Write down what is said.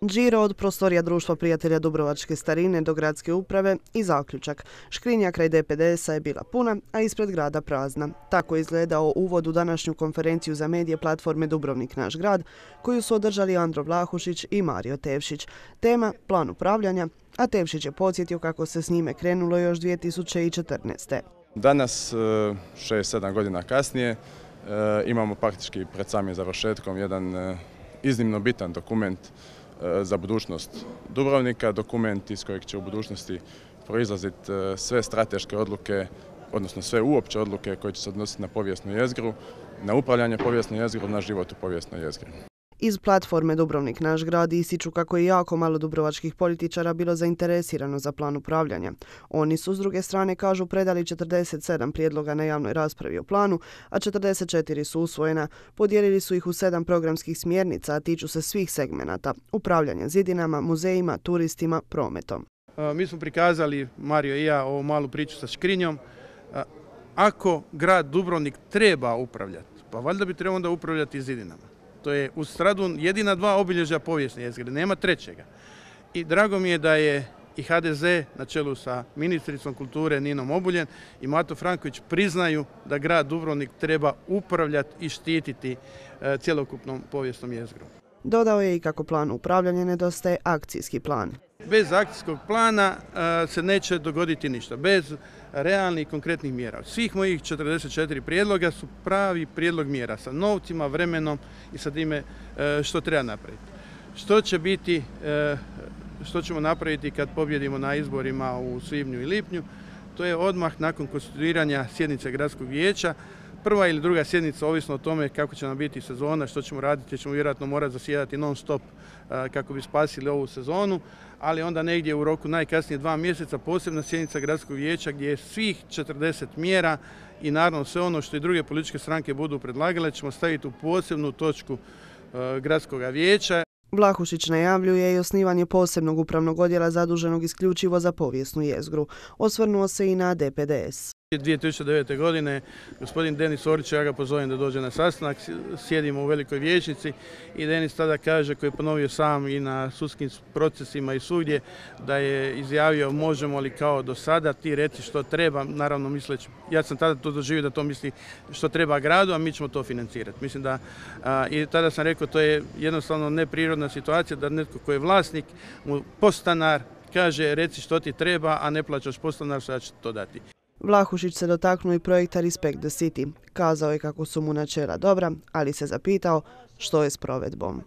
Điro od prostorija Društva prijatelja Dubrovačke starine do gradske uprave i zaključak. Škrinja kraj DPDS-a je bila puna, a ispred grada prazna. Tako je izgledao uvod u današnju konferenciju za medije platforme Dubrovnik naš grad, koju su održali Andro Vlahušić i Mario Tevšić. Tema plan upravljanja, a Tevšić je podsjetio kako se s njime krenulo još 2014. Danas, 6-7 godina kasnije, imamo praktički pred samim završetkom jedan iznimno bitan dokument za budućnost Dubrovnika, dokument iz kojeg će u budućnosti proizlaziti sve strateške odluke, odnosno sve uopće odluke koje će se odnositi na povijesnu jezgru, na upravljanje povijesnom jezgrom, na život u povijesnoj jezgri. Iz platforme Dubrovnik naš grad ističu kako je jako malo dubrovačkih političara bilo zainteresirano za plan upravljanja. Oni su, s druge strane, kažu, predali 47 prijedloga na javnoj raspravi o planu, a 44 su usvojena. Podijelili su ih u 7 programskih smjernica, a tiču se svih segmenata: upravljanja zidinama, muzejima, turistima, prometom. Mi smo prikazali, Mario i ja, ovu malu priču sa Škrinjom. Ako grad Dubrovnik treba upravljati, pa valjda bi trebao onda upravljati zidinama. To je uz Stradun jedina 2 obilježja povijesne jezgre, nema trećega. I drago mi je da je i HDZ na čelu sa ministricom kulture Ninom Obuljen i Mato Franković priznaju da grad Dubrovnik treba upravljati i štititi cjelokupnom povijesnom jezgrom. Dodao je i kako plan upravljanja nedostaje akcijski plan. Bez akcijskog plana se neće dogoditi ništa, bez realnih i konkretnih mjera. Svih mojih 44 prijedloga su pravi prijedlog mjera sa novcima, vremenom i sa time što treba napraviti. Što ćemo napraviti kad pobjedimo na izborima u svibnju i lipnju, to je odmah nakon konstituiranja sjednice gradskog vijeća. Prva ili druga sjednica, ovisno o tome kako će nam biti sezona, što ćemo raditi, ćemo vjerojatno morati zasjedati non stop kako bi spasili ovu sezonu, ali onda negdje u roku najkasnije 2 mjeseca posebna sjednica gradskog vijeća gdje je svih 40 mjera i naravno sve ono što i druge političke stranke budu predlagale ćemo staviti u posebnu točku gradskog vijeća. Vlahušić najavljuje i osnivanje posebnog upravnog odjela zaduženog isključivo za povijesnu jezgru. Osvrnuo se i na DPDS. 2009. godine gospodin Denis Orić, ja ga pozovem da dođe na sastanak, sjedimo u velikoj vijećnici i Denis tada kaže, koji je ponovio sam i na sudskim procesima i svugdje, da je izjavio možemo li kao do sada, ti reci što treba, naravno misleći, ja sam tada to doživio da to misli što treba gradu, a mi ćemo to financirati. Mislim da, i tada sam rekao, to je jednostavno neprirodna situacija da netko koji je vlasnik, mu podstanar, kaže reci što ti treba, a ne plaćaš podstanar, sada će to dati. Vlahušić se dotaknuo i projekta Respect the City. Kazao je kako su mu načela dobra, ali se zapitao što je s provedbom.